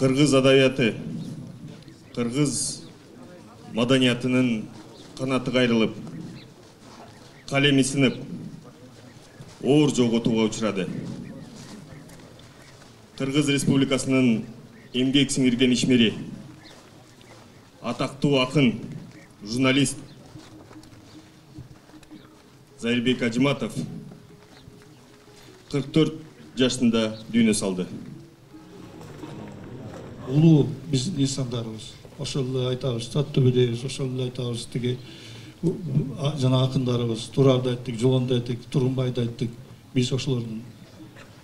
Кыргыз адабияты, кыргыз маданиятынын канаты кайрылып, калеми сынып, оор жоготууга учурады. Кыргыз Республикасынын эмгек сиңирген ишмери, атактуу акын, журналист Зайырбек Ажыматов 44 жашында дүйнө салды. Улуу биздин инсандарыбыз, ошол эле айтабыз, Таттөбөдөйбүз, ошол эле айтабыз, тиги жана акындарыбыз, Турарды айттык, Жолонду айттык, Тургунбайды айттык. Биз ошолордун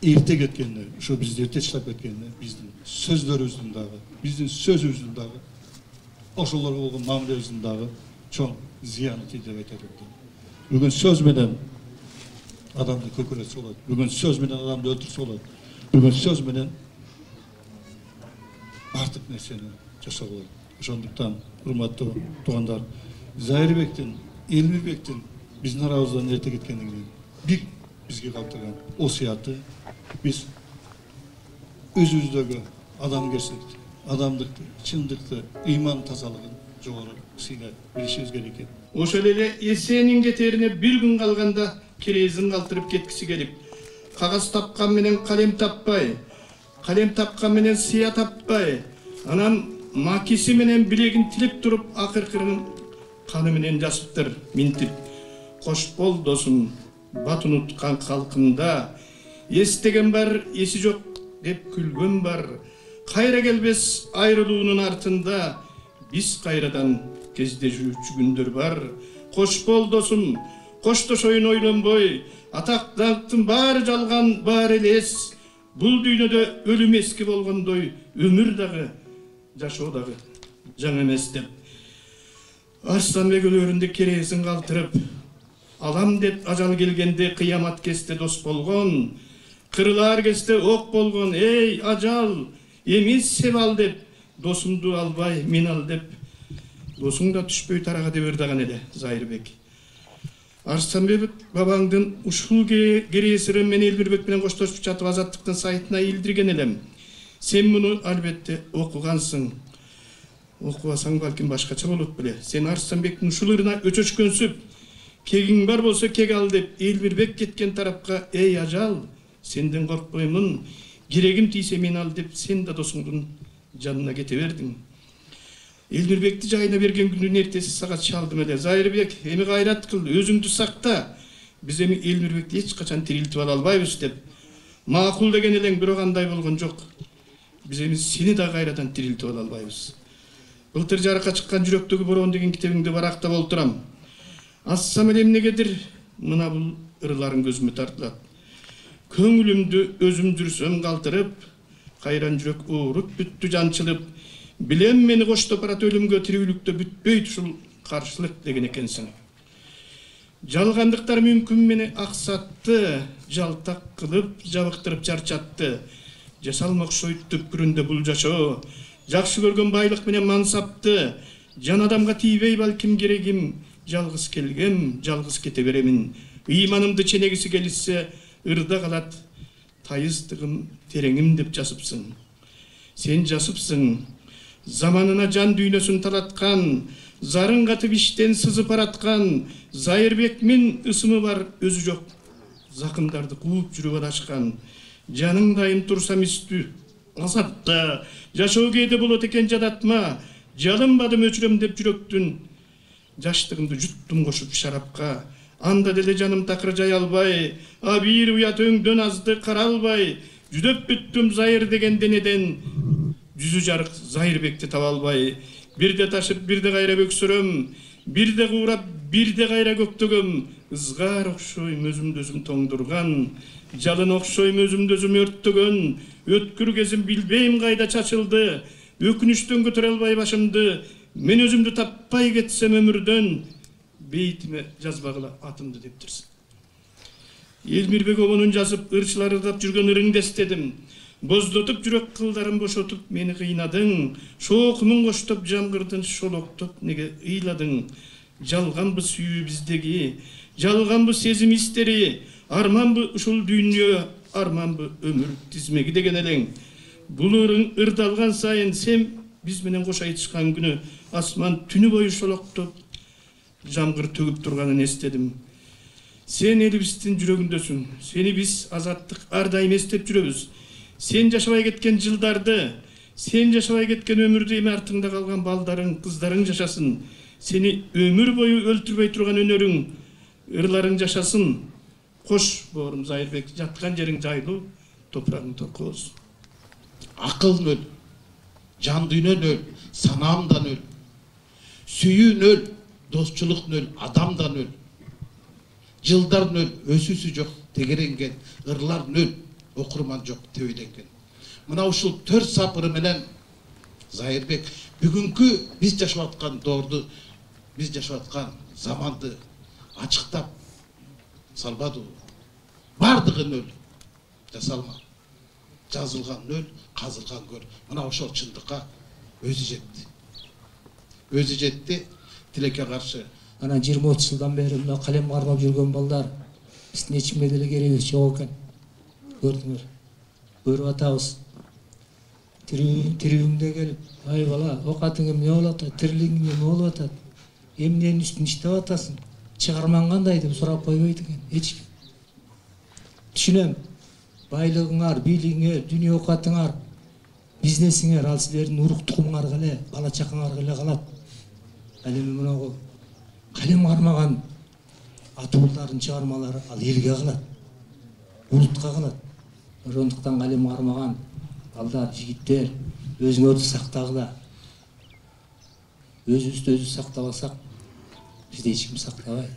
эрте кеткенине, ушу бизди эрте таштап кеткенине, биздин сөздөрүбүздүн дагы, биздин сөзүбүздүн дагы, ошолорго болгон мамилебиздин дагы чоң зыяны тийди деп айтат элем. Бүгүн сөз менен адамды көкүрөтсө болот, бүгүн сөз менен адамды өлтүрсө болот, бүгүн сөз менен бардык нерсени жасоо болот. Ошондуктан, урматтуу туугандар, Зайырбектин, Элмирбектин биздин арабыздан эрте кеткендигинен бир бизге калтырган осуяты, биз өзүбүздөгү адамгерчиликти, адамдыкты, чындыкты, ыйман тазалыгын жогору сыйла билишибиз керек экен. Ошол эле эсенин кетерине бир күн калганда керезин калтырып кеткиси келип, кагаз тапкан менен калем таппай, калем тапкан менен сыя таппай, анан макиси менен билегин тилеп туруп, акыркырын каны менен жазыптыр, минтип. Кош бол досум, бат унуткан калкында, эстеген бар, эси жок деп күлгөн бар. Кайра келбес айрылуунун артында, биз кайрадан кездешүүчү күндөр бар. Кош бол досум, коштошоюн ойлонбой, атак даңктын баары жалган, баары элес. Бул дүйнөдө өлүм эски болгондой, өмүр дагы, жашоо дагы жаңы эмес деп. Арстанбек өлөрүндө керезин калтырып, алам деп ажал келгенде кыямат кесте дос болгон, кырылар кесте ок болгон, эй ажал, эмес сеп ал деп, досумду албай мен ал деп, досуң да түшпөй тарага деп ырдаган эле Зайырбек. Арстанбек бабаңдын ушул кересирин мен Элмирбек менен коштошуп жатып Азаттыктын сайтына илдирген элем. Сен муну албетте окугансың. Окубасаң балким башкача болот беле. Сен Арстанбектин ушул ырына өчөчкөнсүп, кегиң бар болсо кег ал деп Элмирбек кеткен тарапка, эй ажал, сенден коркпоймун, керегим тийсе мен ал деп сен да досуңдун жанына кете бердиң. Элмирбекти жайына берген күндүн эртеси сага чалдым эле. Зайырбек, эми кайрат кыл, өзүңдү сакта. Биз эми Элмирбекти эч качан тирилтип ала албайбыз деп. Макул деген элең, бирок андай болгон жок. Биз эми сени да кайрадан тирилтип ала албайбыз. Былтыр жарыкка чыккан Жүрөктөгү бороон деген китебиңди барактап олтурам. Ассам эле эмнегедир мына бул ырларың көзүмө тартылат. Көңүлүмдү өзүм жүрсөм калтырып, кайран жүрөк ооруп бүттү жанчылып, билем мени коштоп барат өлүмгө, тирүүлүктө бүтпөйт ушул каршылык деген экенсиң. Жалгандыктар мүмкүн мени аксатты, жалтак кылып, жабыктырып чарчатты. Жасалма окшойт түпкүрүндө бул жашоо, жакшы көргөн байлык менен мансапты, жан адамга тийбей балким керегим, жалгыз келгем, жалгыз кете беремин. Ыйманымды ченегиси келишсе, ырда калат тайыздыгым, тереңим деп жасыпсың. Сен жасыпсың, заманына жан дүйнөсүн талаткан, зарын катып иштен сызып араткан, Зайырбекмин ысымы бар өзү жок, закындарды кууп жүрүп адашкан. Жаның дайым турса мистүү, азапта, жашоо кээде болот экен жадатма, жалынбадым өчүрөм деп жүрөктүн, жаштыгымды жуттум кошуп шарапка. Анда деле жаным такыр жай албай, а бир уят өңдөн азды каралбай, жүдөп бүттүм Зайыр деген денеден, жүзү жарык Зайырбекти таба албай. Бирде ташып, бирде кайра бөксөрөм, бирде куурап, бирде кайра көктөгөм. Ызгар окшойм өзүмдү өзүм тоңдурган, жалын окшойм өзүмдү өзүм өрттөгөн. Өткүр кезим билбейм кайда чачылды, өкүнүчтөн көтөрө албай башымды. Мен өзүмдү таппай кетсем өмүрдөн, бейтиме жазбагыла атымды дептирсин. Элмирбек обонун жазып, ырчылар ырдап жүргөн ырыңды эстедим. Боздотуп жүрөк кылдарын бошотуп мени кыйнадың, шоокумун коштоп жамгырдын шолоктоп неге ыйладың. Жалганбы сүйүү биздеги, жалганбы сезим истери, арманбы ушул дүйнө, арманбы өмүр тизмеги деген элең. Бул ырдалган сайын сен биз менен кош айтышкан күнү асман түнү бою шолоктоп жамгыр төгүп турганын эстедим. Сен элибиздин жүрөгүндөсүң. Сени биз азаттык ар дайым эстеп жүрөбүз. Сен жашабай кеткен жылдарды, сен жашабай кеткен өмүрдү эми артыңда калган балдарың, кыздарың жашасын. Сени өмүр бою өлтүрбөй турган өнөрүң, ырларың жашасын. Кош боорум Зайырбек, жаткан жериң жайлуу, топурагың торко болсун. Акылың өл, жан дүйнөн өл, санаамдан өл, сүйүүн өл, достчулуктун өл, адамдан өл, жылдардын өл, өсүүсү жок тегеренген, ырлардын өл, окурман жок тебеленген. Мына ушул 4 сапыры менен Зайырбек бүгүнкү биз жашап аткан доорду, биз жашап аткан заманды ачыктап салбады. Бардыгын өл жасалма. Жазылган өл, казылган көл. Мына ошол чындыкка өзү жетти. Өзү жетти, тилекке каршы. Ана 20-30 жылдан бери мына калем кармап жүргөн балдар биздин эч кимге деле керегибиз жок экен. Көрдүңөр. Көрүп атабыз. Тирүүңдө келип, ай бала, окатың эмне болуп атат, тирилигиң эмне болуп атат, эмненин үстүн иштеп атасың, чыгармаң кандай деп сурап койбойт экен эч ким. Түшүнөм. Байлыгыңар, бийлигиңер, дүнүйө окатыңар, бизнесиңер ал силердин урук тукумуңарга эле, бала чакаңарга эле калат. Ал эми мынагу калем кармаган атуулардын чыгармалары ал элге калат, улутка калат. Ошондуктан калем кармаган балдар, жигиттер, өзүңөрдү сактагыла. Өзүбүздү өзүбүз сактабасак, бизди эч ким сактабайт.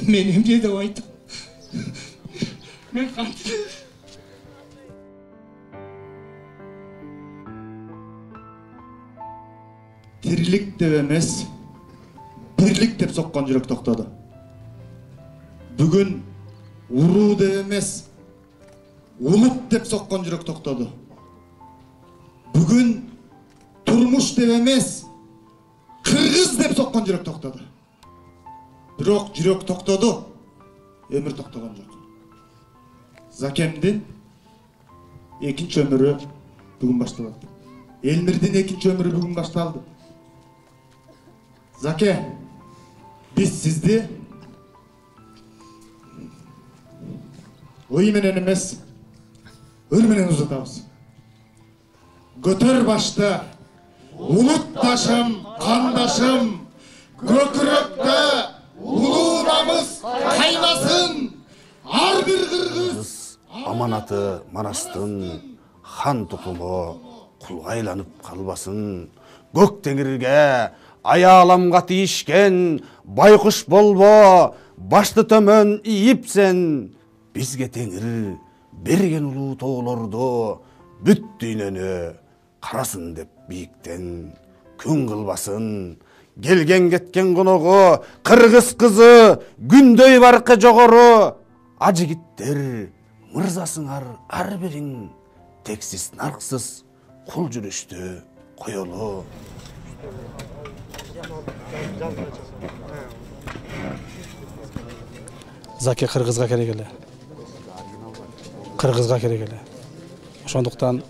Мен эмне деп айтам? Мен кантип? Тирилик деп эмес, бирлик деп соккон жүрөк токтоду. Бүгүн уруу деп эмес, улут деп соккон жүрөк токтоду. Бүгүн турмуш деп эмес, кыргыз деп соккон жүрөк токтоду. Бирок жүрөк токтоду, өмүр токтогон жок. Закемдин экинчи өмүрү бүгүн башталат. Элмирдин экинчи өмүрү бүгүн башталды. Заке, биз сизди ой менен эмес, өл менен узатабыз. Көтөр башты, улут ташым, кандашым, көкүрөктө улуу намыс кайнасын, ар бир кыргыз. Аманаты Манастын хан тукуму кулга айланып калбасын. Көк теңирге аяламга тийишкен байкуш болбо, башты төмөн ийипсен. Бизге теңир берген улуу тоолорду бүт дүйнөнү карасын деп бийиктен күн кылбасын. Келген кеткен коногу кыргыз кызы күндөй баркы жогору. Ажигиттер мырзасыңар ар бириң тексиз нарксыз кул жүрүштү коелу. Заке кыргызга керек эле. Кыргызга керек эле. Ошондуктан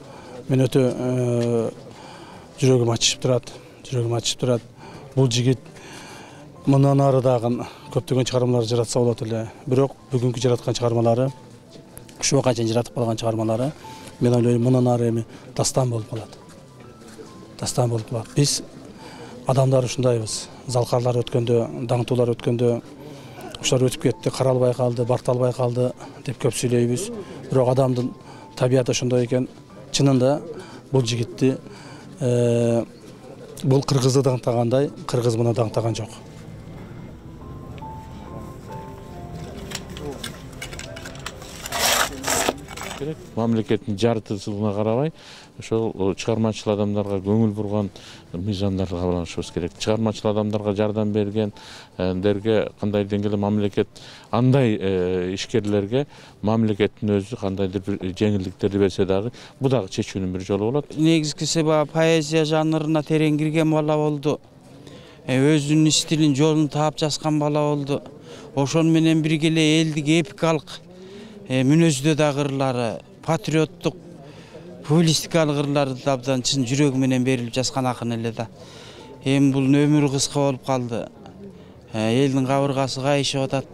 мен өтө жүрөгүм ачышып турат. Бул жигит мындан ары дагы көптөгөн чыгармалар жаратса болот эле. Бирок бүгүнкү жараткан чыгармалары, ушуга чейин жаратып калган чыгармалары, мен ойлойм мындан ары эми дастан болуп калат. Биз адамдар ушундайбыз. Залкарлар өткөндө, даңтуулар өткөндө, ушулар өтүп кетти, каралбай калды, барталбай калды деп көп сүйлөйбүз. Бирок адамдын табияты ошондой экен. Чынында бул жигитти бул кыргызды даңтагандай, кыргыз муну даңтаган жок. Мамлекеттин жарытылышына карабай, ошол чыгармачыл адамдарга көңүл бурган мыйзамдарды кабылданышыбыз керек. Чыгармачыл адамдарга жардам бергендерге кандай деңгээлде мамлекет, андай ишкерлерге мамлекеттин өзү кандайдыр бир жеңилдиктерди берсе дагы, бул дагы чечүүнүн бир жолу болот. Негизгиси поэзия жанрына терең кирген бала болду. Өзүнүн стилин, жолун таап жазган бала болду. Ошон менен бирге эле элдик эпикалык мүнөздө дагы ырлары патриоттук публистикалык ырларды да абдан чын жүрөгү менен берилип жазган акын эле да. Эми бул өмүрү кыска болуп калды. Элдин кабыргасы кайышып атат.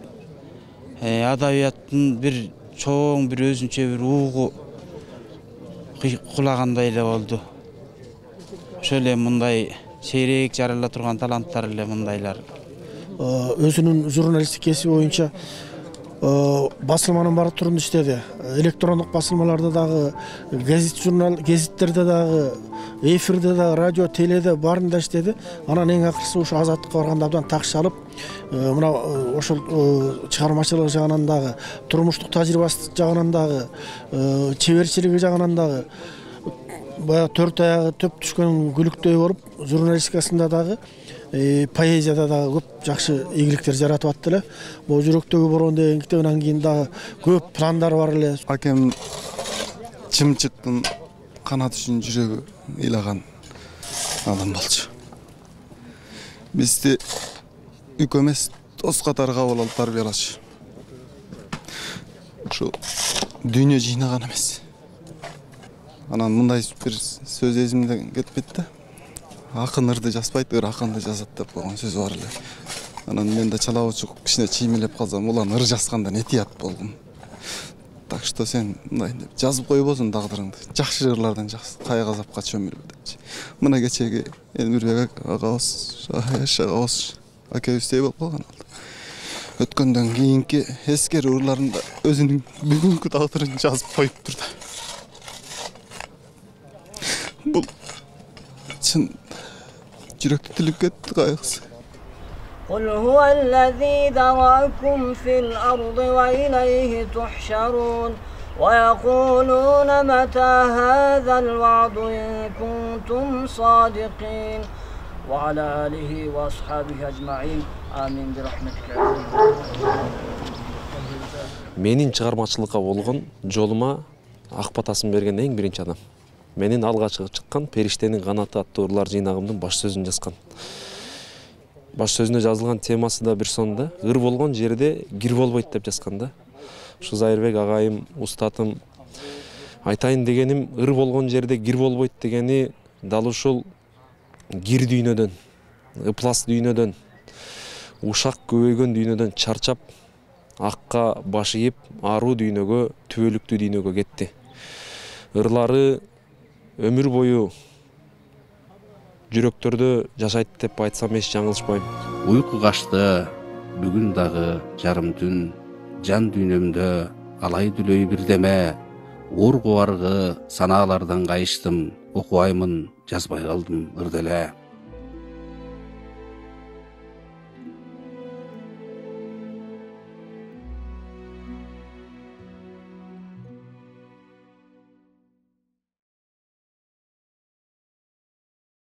Адабияттын бир чоң бир өзүнчө бир угу кулагандай эле болду. Ошол эле мындай сейрек жарала турган таланттар эле мындайлар. Өзүнүн журналисттик кесиби боюнча басылманын баары турунда иштеди. Электрондук басылмаларда дагы, гезиттерде дагы, эфирде дагы, радио, теледе баарында иштеди. Анан эң акыркысы ушу Азаттыкка барганда абдан такш алып, мына ошол чыгармачылык жагынан дагы, турмуштук тажрыйбасы жагынан дагы, чеберчилиги жагынан дагы баягы төрт аягы төп түшкөн күлүктөй болуп, журналистикасында дагы, поэзияда дагы көп жакшы ийгиликтер жаратып атты эле. Бул жүрөктөгү борон деген китебинен кийин дагы көп пландар бар эле. Акем чымчыктын канат үчүн жүрөгү ыйлаган адам болчу. Бизди үк эмес, дос катары кабыл алып тарбиялачу. Ушу дүйнө жыйнаган эмес. Анан мындай бир сөз эсимден кетпейт да. Акын ырды жазбайт, ыр акынды жазат деп койгон сөзү бар эле. Анан мен да чала учук кичине чиймелеп калсам, улан ыр жазгандан этият болдум. Так что сен мындай деп жазып койбосуң тагдырыңды. Жакшы ырлардан кай казапка чөмүлбө депчи. Мына кечеги Элмирбек агабыз, агабыз акебиздей болуп калган алды. Өткөндөн кийинки эскери ырларында өзүнүн бүгүнкү тагдырын жазып коюптур да. Бул чын жүрөктү тилип кетти кайгысы. قل هو الذي ذرأكم في الأرض وإليه تحشرون ويقولون متى هذا الوعد إن كنتم صادقين وعلى آله وأصحابه أجمعين آمين برحمتك. Менин чыгармачылыкка болгон жолума ак батасын берген эң биринчи адам. Менин алгачкы чыккан Периштенин канаты аттуу ырлар жыйнагымдын баш сөзүн жазган. Баш сөзүнө жазылган темасы да бир сонда, ыр болгон жерде гир болбойт деп жазган да. Ушу Зайырбек агайым, устатым айтайын дегеним, ыр болгон жерде гир болбойт дегени дал ушул гир дүйнөдөн, ыплас дүйнөдөн, ушак көбөйгөн дүйнөдөн чарчап, акка баш ийип, аруу дүйнөгө, түбөлүктүү дүйнөгө кетти. Ырлары өмүр бою жүрөктөрдө жашайт деп айтсам эч жаңылышпайм. Уйку качты, бүгүн дагы жарым түн, жан дүйнөмдө алай дүлөй бирдеме, уургу аргы санаалардан кайыштым, окубаймын, жазбай калдым ырделе.